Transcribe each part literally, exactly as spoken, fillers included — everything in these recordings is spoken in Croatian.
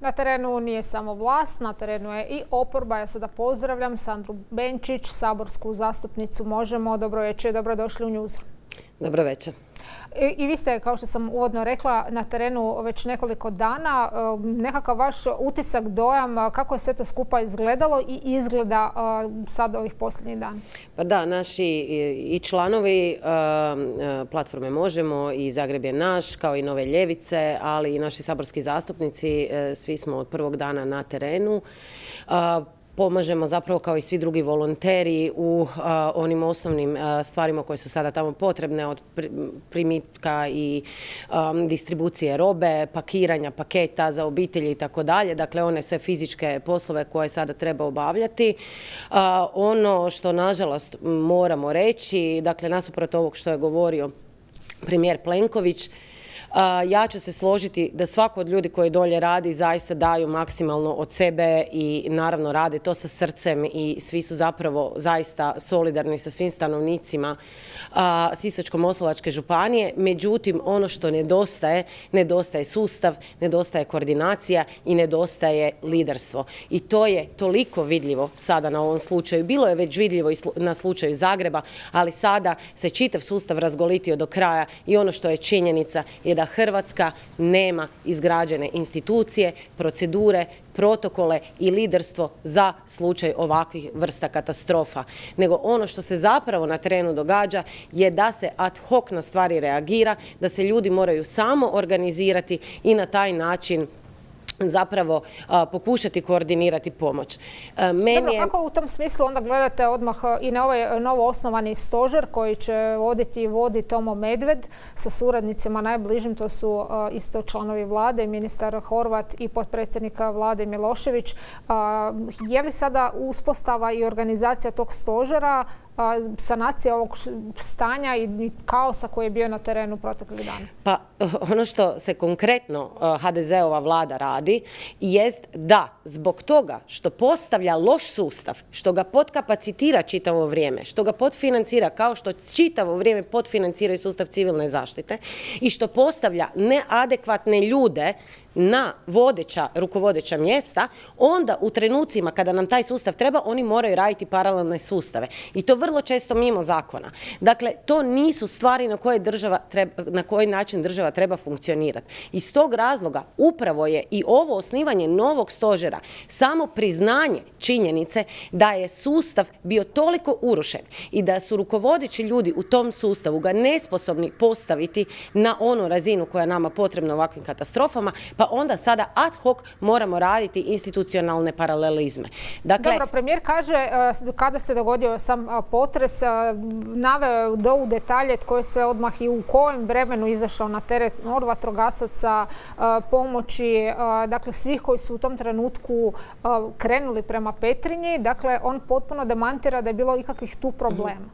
Na terenu nije samo vlast, na terenu je i oporba. Ja sada pozdravljam Sandru Benčić, saborsku zastupnicu Možemo. Dobro večer, dobrodošli u Newsroom. Dobro večer. I, I vi ste, kao što sam uvodno rekla, na terenu već nekoliko dana. Nekakav vaš utisak, dojam, kako je sve to skupa izgledalo i izgleda sad ovih posljednjih dana? Pa da, naši i članovi platforme Možemo i Zagreb je naš, kao i Nove ljevice, ali i naši saborski zastupnici, svi smo od prvog dana na terenu. Pomažemo zapravo kao i svi drugi volonteri u a, onim osnovnim a, stvarima koje su sada tamo potrebne, od primitka i a, distribucije robe, pakiranja paketa za obitelji i tako dalje. Dakle, one sve fizičke poslove koje sada treba obavljati. A, ono što nažalost moramo reći, dakle, nasuprot ovog što je govorio premijer Plenković, ja ću se složiti da svako od ljudi koji dolje radi zaista daju maksimalno od sebe i naravno rade to sa srcem i svi su zapravo zaista solidarni sa svim stanovnicima Sisačko-moslavačke županije. Međutim, ono što nedostaje, nedostaje sustav, nedostaje koordinacija i nedostaje liderstvo. I to je toliko vidljivo sada na ovom slučaju. Bilo je već vidljivo i na slučaju Zagreba, ali sada se čitav sustav razgolitio do kraja i ono što je činjenica je da Hrvatska nema izgrađene institucije, procedure, protokole i liderstvo za slučaj ovakvih vrsta katastrofa. Nego ono što se zapravo na terenu događa je da se ad hoc na stvari reagira, da se ljudi moraju samo organizirati i na taj način zapravo a, pokušati koordinirati pomoć. A, meni Dobro, je... kako u tom smislu onda gledate odmah i na ovaj novo osnovani stožer koji će voditi i vodi Tomo Medved sa suradnicima najbližim, to su a, isto članovi vlade, ministar Horvat i potpredsjednika vlade Milošević. A, je li sada uspostava i organizacija tog stožera sanacija ovog stanja i kaosa koji je bio na terenu proteklih dana? Pa ono što se konkretno ha de ze-ova vlada radi jest da zbog toga što postavlja loš sustav, što ga podkapacitira čitavo vrijeme, što ga podfinancira kao što čitavo vrijeme podfinancira i sustav civilne zaštite i što postavlja neadekvatne ljude na vodeća, rukovodeća mjesta, onda u trenucima kada nam taj sustav treba, oni moraju raditi paralelne sustave. I to vrlo često mimo zakona. Dakle, to nisu stvari na koje država treba, na koji način država treba funkcionirati. Iz tog razloga upravo je i ovo osnivanje novog stožera samo priznanje činjenice da je sustav bio toliko urušen i da su rukovodeći ljudi u tom sustavu ga nesposobni postaviti na onu razinu koja je nama potrebna u ovakvim katastrofama, pa onda sada ad hoc moramo raditi institucionalne paralelizme. Dakle, Dobro, premijer kaže kada se dogodio sam potres, naveo do u detalje tko je sve odmah i u kojem vremenu izašao na teret od vatrogasaca, pomoći, dakle svih koji su u tom trenutku krenuli prema Petrinji. Dakle, on potpuno demantira da je bilo ikakvih tu problema.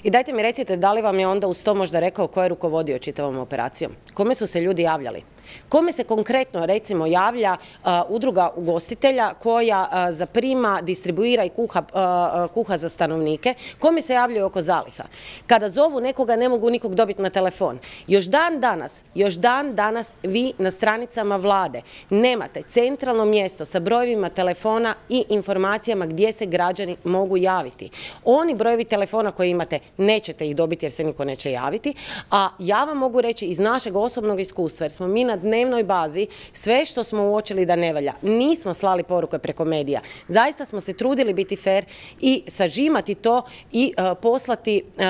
I dajte mi recite, da li vam je onda uz to možda rekao ko je rukovodio čitavom operacijom? Kome su se ljudi javljali? Kome se konkretno, recimo, javlja uh, udruga ugostitelja koja uh, zaprima, distribuira i kuha, uh, kuha za stanovnike? Kome se javljaju oko zaliha? Kada zovu nekoga, ne mogu nikog dobiti na telefon. Još dan danas, još dan danas vi na stranicama vlade nemate centralno mjesto sa brojevima telefona i informacijama gdje se građani mogu javiti. Oni brojevi telefona koje imate nećete ih dobiti jer se niko neće javiti, a ja vam mogu reći iz našeg osobnog iskustva, jer smo mi na dnevnoj bazi sve što smo uočili da ne valja. Nismo slali poruke preko medija. Zaista smo se trudili biti fer i sažimati to i uh, poslati uh,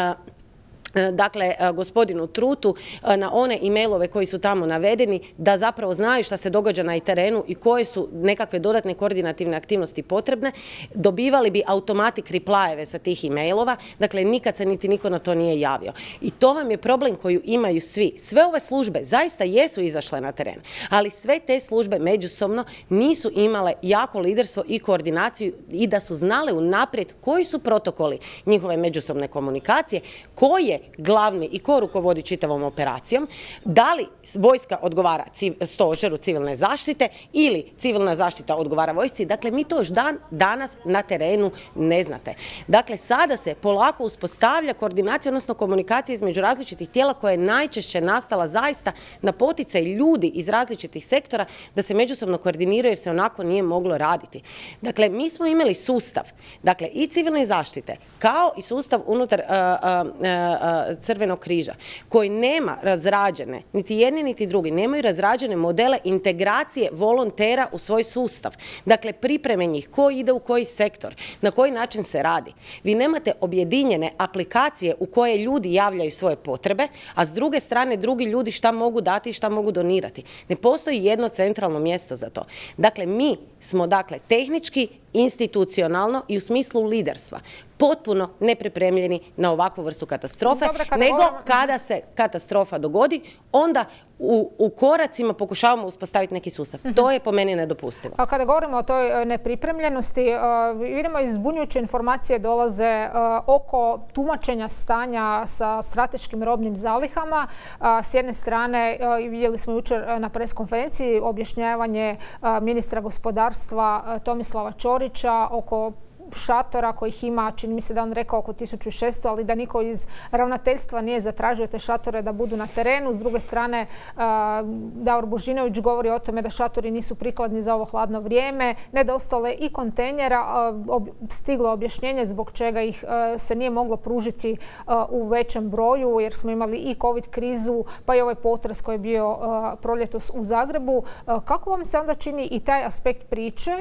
dakle, gospodinu Trutu na one e-mailove koji su tamo navedeni, da zapravo znaju šta se događa na terenu i koje su nekakve dodatne koordinativne aktivnosti potrebne, dobivali bi automatic replyeve sa tih e-mailova, dakle nikad se niti niko na to nije javio. I to vam je problem koju imaju svi. Sve ove službe zaista jesu izašle na teren, ali sve te službe međusobno nisu imale jako liderstvo i koordinaciju i da su znale unaprijed koji su protokoli njihove međusobne komunikacije, koje glavni i ko rukovodi čitavom operacijom, da li vojska odgovara stožeru civilne zaštite ili civilna zaštita odgovara vojsci. Dakle, mi to još dan danas na terenu ne znate. Dakle, sada se polako uspostavlja koordinacija, odnosno komunikacija između različitih tijela koja je najčešće nastala zaista na poticaj ljudi iz različitih sektora da se međusobno koordiniraju jer se onako nije moglo raditi. Dakle, mi smo imali sustav, dakle i civilne zaštite kao i sustav unutar uh, uh, uh, Crvenog križa koji nema razrađene, niti jedni niti drugi, nemaju razrađene modele integracije volontera u svoj sustav. Dakle, pripreme njih, ko ide u koji sektor, na koji način se radi. Vi nemate objedinjene aplikacije u koje ljudi javljaju svoje potrebe, a s druge strane drugi ljudi šta mogu dati i šta mogu donirati. Ne postoji jedno centralno mjesto za to. Dakle, mi smo dakle tehnički, institucionalno i u smislu liderstva potpuno nepripremljeni na ovakvu vrstu katastrofe, Dobre, kada nego govorimo... kada se katastrofa dogodi, onda u, u koracima pokušavamo uspostaviti neki sustav. Uh-huh. To je po meni nedopustivo. A kada govorimo o toj nepripremljenosti, uh, vidimo izbunjujuće informacije dolaze uh, oko tumačenja stanja sa strateškim robnim zalihama. Uh, s jedne strane, uh, vidjeli smo jučer na preskonferenciji objašnjavanje uh, ministra gospodarstva uh, Tomislava Ćorića oko šatora kojih ima, čini mi se da on rekao oko tisuću šesto, ali da niko iz ravnateljstva nije zatražio te šatore da budu na terenu. S druge strane, Davor Božinović govori o tome da šatori nisu prikladni za ovo hladno vrijeme. Nedostalo je i kontejnera, stiglo objašnjenje zbog čega ih se nije moglo pružiti u većem broju, jer smo imali i covid krizu, pa i ovaj potres koji je bio proljetos u Zagrebu. Kako vam se onda čini i taj aspekt priče?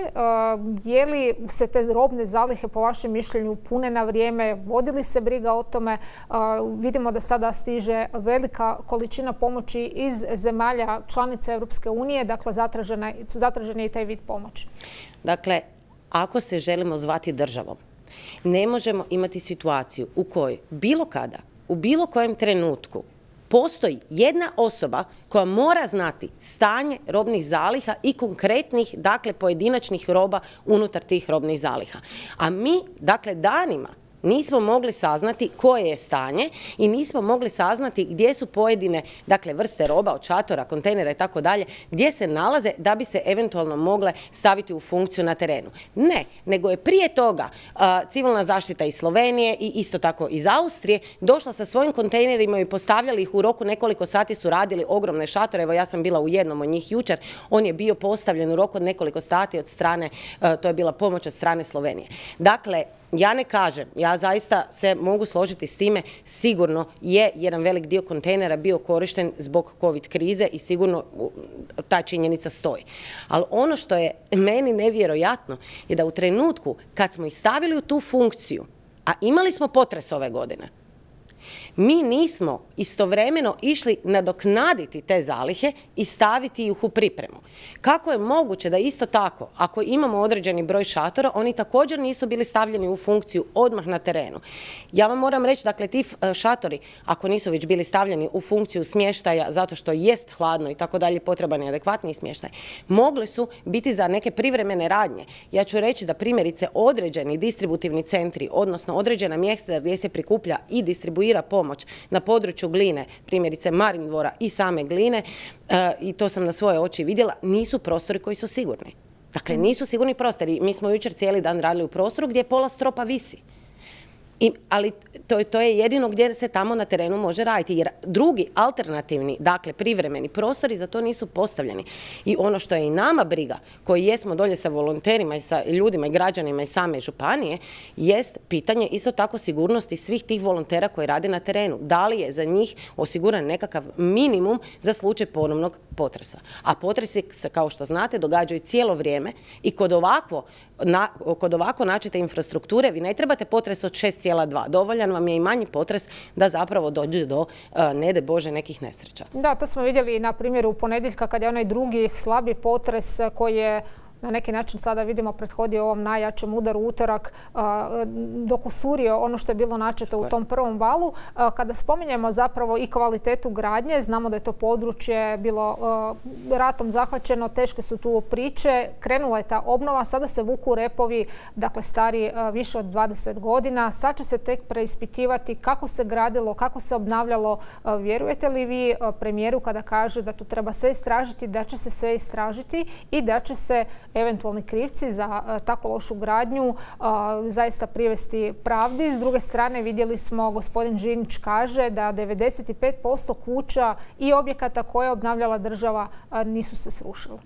Je li se te robne zalihe po vašem mišljenju pune na vrijeme, vodili se briga o tome? Uh, vidimo da sada stiže velika količina pomoći iz zemalja članica Europske unije, dakle zatražena, zatražen je i taj vid pomoći. Dakle, ako se želimo zvati državom, ne možemo imati situaciju u kojoj bilo kada, u bilo kojem trenutku postoji jedna osoba koja mora znati stanje robnih zaliha i konkretnih, dakle, pojedinačnih roba unutar tih robnih zaliha. A mi, dakle, danima nismo mogli saznati koje je stanje i nismo mogli saznati gdje su pojedine, dakle, vrste roba od šatora, kontejnera i tako dalje, gdje se nalaze da bi se eventualno mogle staviti u funkciju na terenu. Ne, nego je prije toga uh, civilna zaštita iz Slovenije i isto tako iz Austrije došla sa svojim kontejnerima i postavljali ih u roku nekoliko sati, su radili ogromne šatore. Evo, ja sam bila u jednom od njih jučer, on je bio postavljen u roku od nekoliko sati od strane, uh, to je bila pomoć od strane Slovenije. Dakle, ja ne kažem, ja zaista se mogu složiti s time, sigurno je jedan velik dio kontejnera bio korišten zbog covid krize i sigurno ta činjenica stoji. Ali ono što je meni nevjerojatno je da u trenutku kad smo ih stavili u tu funkciju, a imali smo potres ove godine, mi nismo istovremeno išli nadoknaditi te zalihe i staviti ih u pripremu. Kako je moguće da isto tako, ako imamo određeni broj šatora, oni također nisu bili stavljeni u funkciju odmah na terenu? Ja vam moram reći, dakle, ti šatori, ako nisu već bili stavljeni u funkciju smještaja zato što jest hladno i tako dalje, potreban je adekvatniji smještaj, mogli su biti za neke privremene radnje. Ja ću reći da primjerice određeni distributivni centri, odnosno određena mjesta gdje se prikuplja i distribuira pomoć na području Gline, primjerice Marindvora i same Gline, e, i to sam na svoje oči vidjela, nisu prostori koji su sigurni. Dakle, nisu sigurni prostori. Mi smo jučer cijeli dan radili u prostoru gdje pola stropa visi. I, ali to, to je jedino gdje se tamo na terenu može raditi, jer drugi alternativni, dakle privremeni prostori za to nisu postavljeni. I ono što je i nama briga, koji jesmo dolje sa volonterima i sa ljudima i građanima i same županije, jest pitanje isto tako sigurnosti svih tih volontera koji rade na terenu. Da li je za njih osiguran nekakav minimum za slučaj ponovnog potresa? A potresi se, kao što znate, događaju cijelo vrijeme i kod ovakvo Na, kod ovako načite infrastrukture vi ne trebate potres od šest zarez dva. Dovoljan vam je i manji potres da zapravo dođe do, ne daj Bože, nekih nesreća. Da, to smo vidjeli na primjeru ponedjeljka kad je onaj drugi slabi potres koji je na neki način sada vidimo prethodio ovom najjačem udaru utorak, dok usurio ono što je bilo načeto u tom prvom valu. Kada spominjemo zapravo i kvalitetu gradnje, znamo da je to područje bilo ratom zahvaćeno, teške su tu priče, krenula je ta obnova, sada se vuku repovi, dakle stari više od dvadeset godina. Sad će se tek preispitivati kako se gradilo, kako se obnavljalo. Vjerujete li vi premijeru kada kaže da to treba sve istražiti, da će se sve istražiti i da će se eventualni krivci za tako lošu gradnju zaista privesti pravdi? S druge strane vidjeli smo, gospodin Žinić kaže da devedeset pet posto kuća i objekata koje je obnavljala država nisu se srušile.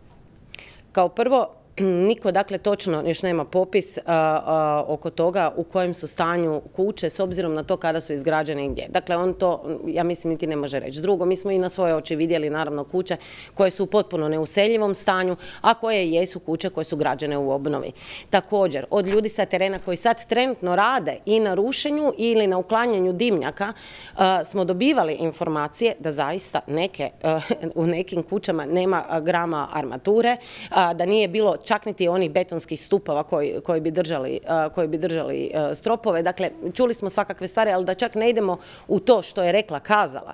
Kao prvo, niko dakle točno još nema popis a, a, oko toga u kojem su stanju kuće s obzirom na to kada su izgrađene i gdje. Dakle, on to, ja mislim, niti ne može reći. Drugo, mi smo i na svoje oči vidjeli naravno kuće koje su u potpuno neuseljivom stanju, a koje jesu kuće koje su građene u obnovi. Također, od ljudi sa terena koji sad trenutno rade i na rušenju ili na uklanjanju dimnjaka a, smo dobivali informacije da zaista neke, a, u nekim kućama nema grama armature, a, da nije bilo čak niti onih betonskih stupova koji, koji bi držali, uh, koji bi držali uh, stropove. Dakle, čuli smo svakakve stvari, ali da čak ne idemo u to što je rekla, kazala.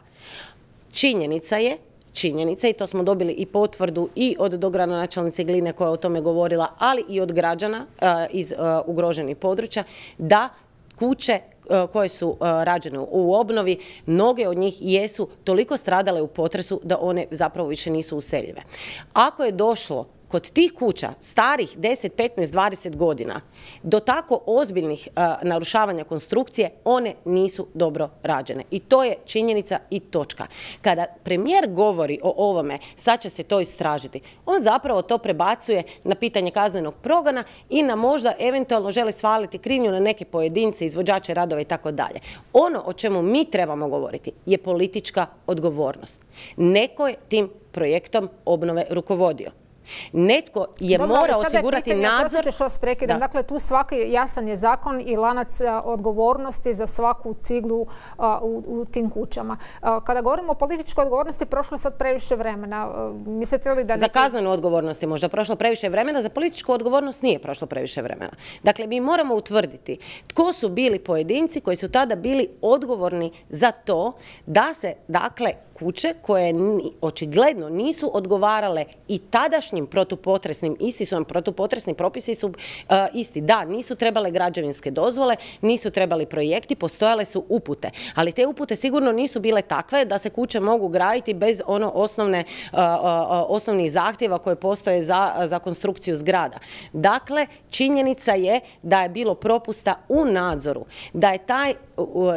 Činjenica je, činjenica, i to smo dobili i potvrdu i od dogradonačelnice Gline koja je o tome govorila, ali i od građana uh, iz uh, ugroženih područja, da kuće koje su rađene u obnovi, mnoge od njih jesu toliko stradale u potresu da one zapravo više nisu useljive. Ako je došlo kod tih kuća starih deset, petnaest, dvadeset godina do tako ozbiljnih uh, narušavanja konstrukcije, one nisu dobro rađene. I to je činjenica i točka. Kada premijer govori o ovome, sad će se to istražiti, on zapravo to prebacuje na pitanje kaznenog progona i na možda eventualno želi svaliti krivnju na neke pojedince, izvođače radova i tako dalje. Ono o čemu mi trebamo govoriti je politička odgovornost. Neko je tim projektom obnove rukovodio. Netko je Dobro, mora osigurati je pitanje, nadzor. Što vas prekidam. Dakle, tu svaki jasan je zakon i lanac odgovornosti za svaku ciglu uh, u, u tim kućama. Uh, kada govorimo o političkoj odgovornosti, prošlo je sad previše vremena. Uh, mislite li da neki... Za kaznenu odgovornost je možda prošlo previše vremena, za političku odgovornost nije prošlo previše vremena. Dakle, mi moramo utvrditi tko su bili pojedinci koji su tada bili odgovorni za to da se, dakle, kuće koje očigledno nisu odgovarale i tadašnjim protupotresnim, isti su nam protupotresni propisi su uh, isti. Da, nisu trebale građevinske dozvole, nisu trebali projekti, postojale su upute. Ali te upute sigurno nisu bile takve da se kuće mogu graditi bez ono osnovne, uh, uh, osnovnih zahtjeva koje postoje za, za konstrukciju zgrada. Dakle, činjenica je da je bilo propusta u nadzoru, da je taj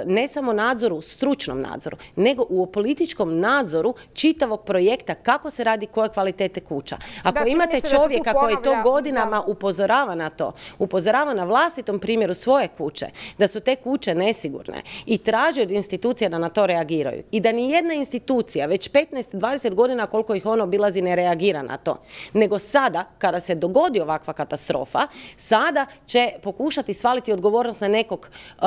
ne samo nadzoru, u stručnom nadzoru, nego u političkom nadzoru čitavog projekta kako se radi koje kvalitete kuća. Ako da, imate čovjeka koji to godinama da. upozorava na to, upozorava na vlastitom primjeru svoje kuće, da su te kuće nesigurne i traži od institucija da na to reagiraju i da ni jedna institucija već petnaest dvadeset godina koliko ih ono obilazi ne reagira na to, nego sada kada se dogodi ovakva katastrofa, sada će pokušati svaliti odgovornost na nekog uh,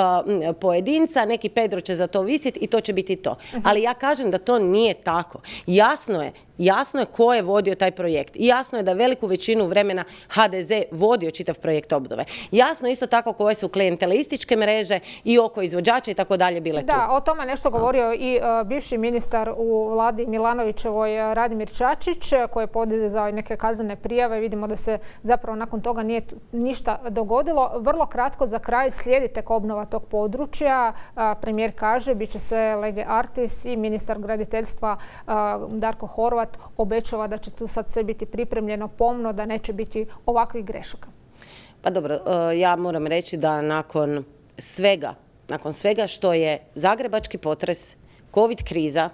pojedinca, neki Pedro će za to visiti i to će biti to. Ali ja kažem da to nije tako. Jasno je Jasno je ko je vodio taj projekt. I jasno je da veliku većinu vremena ha de ze vodio čitav projekt obnove. Jasno isto tako koje su klijentelističke mreže i oko izvođača i tako dalje bile tu. Da, o tome nešto govorio i uh, bivši ministar u vladi Milanovićevoj Radimir Čačić, koji je podizao neke kaznene prijave. Vidimo da se zapravo nakon toga nije ništa dogodilo. Vrlo kratko za kraj, slijedi tek obnova tog područja. Uh, premijer kaže, bit će sve lege artis i ministar graditeljstva uh, Darko Horvat obećava da će tu sad sve biti pripremljeno pomno, da neće biti ovakvih grešaka. Pa dobro, ja moram reći da nakon svega, nakon svega što je zagrebački potres, covid kriza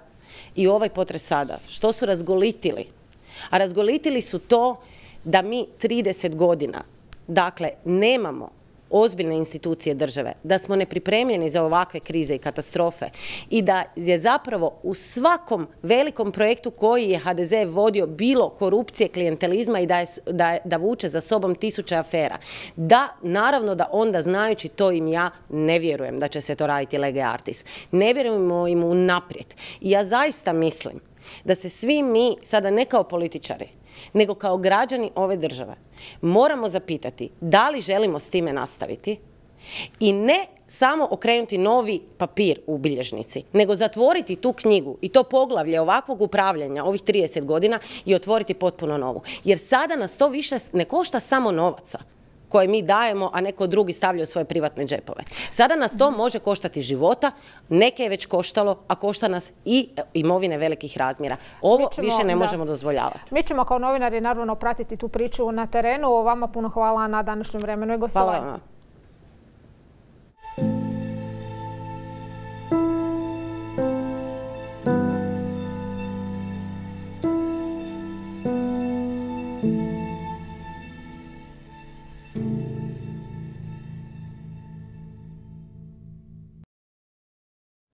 i ovaj potres sada, što su razgolitili, a razgolitili su to da mi trideset godina, dakle, nemamo ozbiljne institucije države, da smo nepripremljeni za ovakve krize i katastrofe i da je zapravo u svakom velikom projektu koji je ha de ze vodio bilo korupcije, klijentelizma i da, je, da, da vuče za sobom tisuće afera. Da, naravno da onda znajući to im ja ne vjerujem da će se to raditi lege artis. Ne vjerujemo im unaprijed. I ja zaista mislim da se svi mi, sada ne kao političari, nego kao građani ove države moramo zapitati da li želimo s time nastaviti i ne samo okrenuti novi papir u bilježnici, nego zatvoriti tu knjigu i to poglavlje ovakvog upravljanja ovih trideset godina i otvoriti potpuno novu. Jer sada nas to više ne košta samo novaca koje mi dajemo, a neko drugi stavlja u svoje privatne džepove. Sada nas to može koštati života, neke je već koštalo, a košta nas i imovine velikih razmjera. Ovo ćemo, više ne da. možemo dozvoljavati. Mi ćemo kao novinari naravno pratiti tu priču na terenu. Vama puno hvala na današnjem vremenu i gostovanju. Hvala vama.